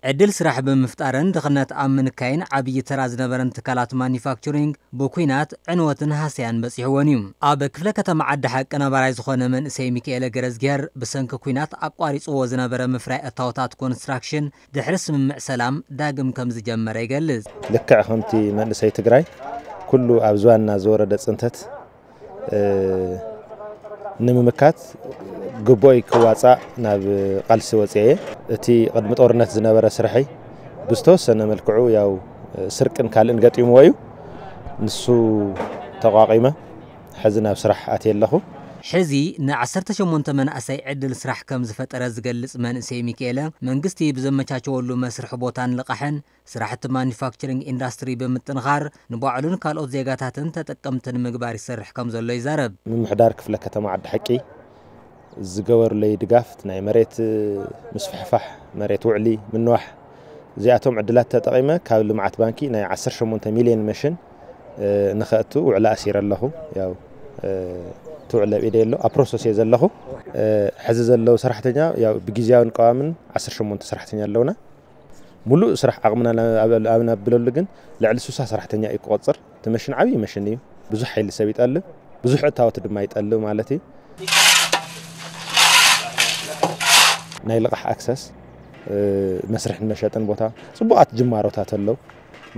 ዕድል ስራሕ ብምፍጣርን ድኽነት ኣብ ምንካይን ዓብዪ ተራ ዝነበረን ትካላት ማኒፋክቸሪንግ ብኲናት ዕንወትን ሃሰያን በፂሕወን እዩ። ኣብ ክፍለ ከተማ ዓዲ ሓቂ ነባራይ ዝኾነ መንእሰይ ሚካኤለ ገረዝጊሄር ብሰንኪ ኲናት ኣቋሪፅዎ ዝነበረ ምፍራይ እታወታት ኮንስትራክሽን ድሕሪ ስምምዕ ሰላም ዳግም ከም ዝጀመረ ይገልጽ። ልክዕ ከምቲ መንእሰይ ትግራይ ኩሉ ኣብ ዝባንና ዝወረደ ፅንተት፣ እ፣ ንምምካት ግቡእይ ክዋፃእ ናብ ቃልሲ ወፅየ እየ። እቲ ቅድሚ ጦርነት ዝነበረ ስርሐይ ብዝተወሰነ መልክዑ ያው ስርቅን ካልእን ገጢምዎ እዩ። ንሱ ተቋቒመ ሕዚ ናብ ስራሕ ኣትየ ኣለኹ። ሕዚ ን18 መናእሰይ ዕድል ስራሕ ከም ዝፈጠረ ዝገልጽ መንእሰይ ሚካኤለ፣ መንግስቲ ብዘመቻቸወሉ መስርሒ ቦታን ልቓሕን ስራሕቲ ማኒፋክቸሪንግ ኢንዳስትሪ ብምጥንኻር ንባዕሉን ካልኦት ዜጋታትን ተጠቀምቲ ንምግባር ይሰርሕ ከም ዘሎ ይዛረብ። ምምሕዳር ክፍለ ከተማ ዓዲ ሓቂ ዝገበሩለይ ድጋፍ፣ ናይ መሬት ምስፍሕፋሕ፣ መሬት ውዕሊ ምንዋሕ፣ እዚኣቶም ዕድላት ተጠቒመ ካብ ልምዓት ባንኪ ናይ 18 ሚልዮን መሽን፣ እ፣ ንኸእቱ ውዕሊ ኣሲረ ኣለኹ። ያው፣ እ፣ እቲ ውዕሊ ኣብ ኢደይ ኣሎ፣ ኣብ ፕሮሰስ እየ ዘለኹ። እ፣ ሕዚ ዘለዉ ሰራሕተኛ ያው ብግዝያውን ቀዋምን 18 ሰራሕተኛ ኣለውና። ሙሉእ ስራሕ ዓቕምና ናብ፣ ኣብ፣ ኣብ ናብለሉ ግን ልዕሊ 60 ሰራሕተኛ እዩ ክቆፅር። እቲ መሽን ዓብዪ መሽን እዩ። ብዙሕ ሓይሊ ሰብ ይጠልብ፣ ብዙሕ እታወት ድማ ይጠልብ ማለት እዩ። ናይ ልቓሕ ኣክሰስ፣ እ፣ መስርሕን መሸጥን ቦታ፣ ፅቡቓት ጅማሮታት ኣለዉ።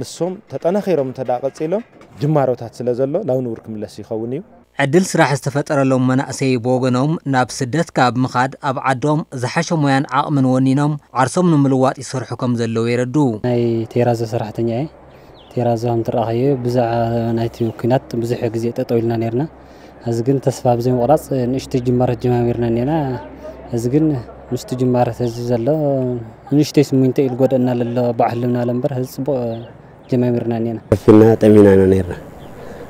ንሶም ተጠናኺሮም እንተ ደኣ ቀፂሎም፣ ጅማሮታት ስለ ዘሎ ላው ንቡር ክምለስ ይኸውን እዩ። ዕድል ስራሕ ዝተፈጠረሎም መናእሰይ ብወገኖም ናብ ስደት ካብ ምኻድ ኣብ ዓዶም ዝሓሸ ሞያን ዓቕምን ወኒኖም ዓርሶም ንምልዋጥ ይሰርሑ ከም ዘለዉ የረድኡ። ናይ ቴራዞ ሰራሕተኛ እየ። ቴራዞ ከም ትረኣኸዮ ብዛዕባ ናይቲ ኲናት ብዙሕ ግዜ ጠጠው ኢልና ነርና። እዚ ግን ተስፋ ብዘይ ምቑራፅ ንእሽተይ ጅማረት ጀማሚርና እኒና። እዚ ግን ምስቲ ጅማረት እዚ ዘሎ ንእሽተይ ስሚንቶ ኢሉ ጎደና ለሎ ባዕልምና ለምበር እዚ ፅቡቕ ጀማሚርና እኒና። ከፊልና ጠሚና ኢና ነርና።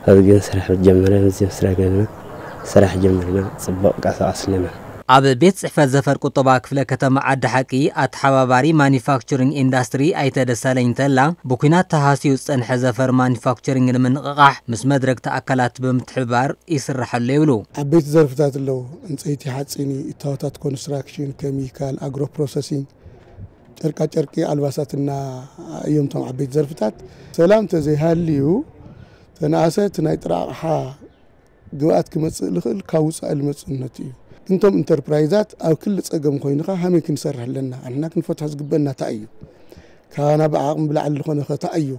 ኣብዚ ግን ስራሕ ጀመረ፣ ምስዚ ስራሕ ገና ስራሕ ጀመርና፣ ጽቡቕ ቀሳቐስ ኣለና። ኣብ ቤት ጽሕፈት ዘፈር ቁጠባ ክፍለ ከተማ ዓዲ ሓቂ ኣተሓባባሪ ማኒፋክቸሪንግ ኢንዳስትሪ ኣይተ ደሳለኝ ተላ፣ ብኲናት ተሃስዩ ዝጸንሐ ዘፈር ማኒፋክቸሪንግ ንምንቕቓሕ ምስ መድረግቲ ኣካላት ብምትሕብባር ይስርሐሉ ይብሉ። ዓበይቲ ዘርፍታት ኣለዉ። ዕንጸይቲ፣ ሓጺን፣ እታወታት ኮንስትራክሽን፣ ኬሚካል፣ ኣግሮ ፕሮሰሲንግ፣ ጨርቃጨርቂ፣ ኣልባሳትና እዮም እቶም ዓበይቲ ዘርፍታት። ሰላም ተዘይሃልዩ ተነኣሰ እቲ ናይ ጥረ ኣቕሓ ግብኣት ክመጽእ ልኽእል ካብ ውጻኢ ልመጽእነት እዩ። እንቶም ኢንተርፕራይዛት ኣብ ክሊ ጸገም ኮይንኻ ሃመይ ክንሰርሕ ኣለና? ኣንሕና ክንፈትሖ ዝግበና እንታይ እዩ? ካባና ብዓቕሚ ብላዕሊ ዝኾነ ኸ እንታይ እዩ?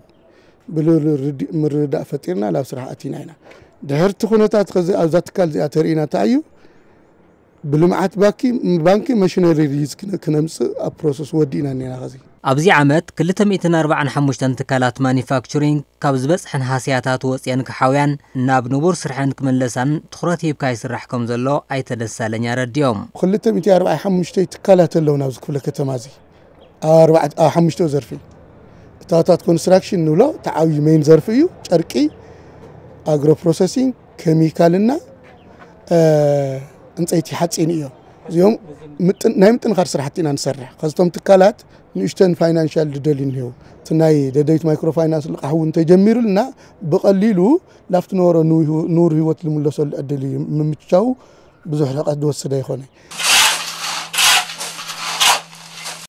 ብልብል ርዲ-፣ ምርድዳእ ፈጢርና ናብ ስራሕ ኣቲና ኢና። ድሕርቲ ኩነታት ኸዚ ኣብዛ ትካል እዚኣ ተርእይና እንታይ እዩ? ብልምዓት ባንኪ፣ ባንኪ መሽነሪ ሊዝ ክነ-፣ ክነምጽእ ኣብ ፕሮሰስ ወዲእና እኒና ኸዚ። ኣብዚ ዓመት ክልተ ሚእትን ኣርባዓን ሓሙሽተን ትካላት ማኒፋክቸሪንግ ካብ ዝበጽሐን ሃስያታት ወጽየን ክሓውያን ናብ ንቡር ስርሐን ክምለሳን ትኹረት ሂብካ ይስራሕ ከም ዘሎ ኣይተ ደሳለኝ ኣረዲኦም። ክልተ ሚእቲ ኣርባዓን ሓሙሽተ ትካላት ኣለዉ ናብዚ ክፍለ ከተማ እዚ። ኣብ ኣርባዕተ፣ ኣብ ሓሙሽተ ዘርፊ። እታወታት ኮንስትራክሽን ንብሎ፣ እቲ ዓብዪ ሜን ዘርፊ እዩ። ጨርቂ፣ ኣግሮ ፕሮሰሲንግ፣ ኬሚካልና፣ እ፣ ዕንፀይቲ ሓፂን እዮም። እዚኦም ምጥን-፣ ናይ ምጥንኻር ስራሕቲ ኢና ንሰርሕ። ከዚቶም ትካላት ንእሽተን ፋይናንሻል ዝደልዩ እኒሄው። እቲ ናይ ደደቢት ማይክሮ ፋይናንስ ልቓሕ እውን ተጀሚሩልና፣ ብቐሊሉ ላፍቲ ነበሮ ንው-፣ ንቡር ህይወት ዝምለሰሉ ዕድል እዩ። ምምችቻው ብዙሕ ርሕቀት ዝወስድ ኣይኮነ።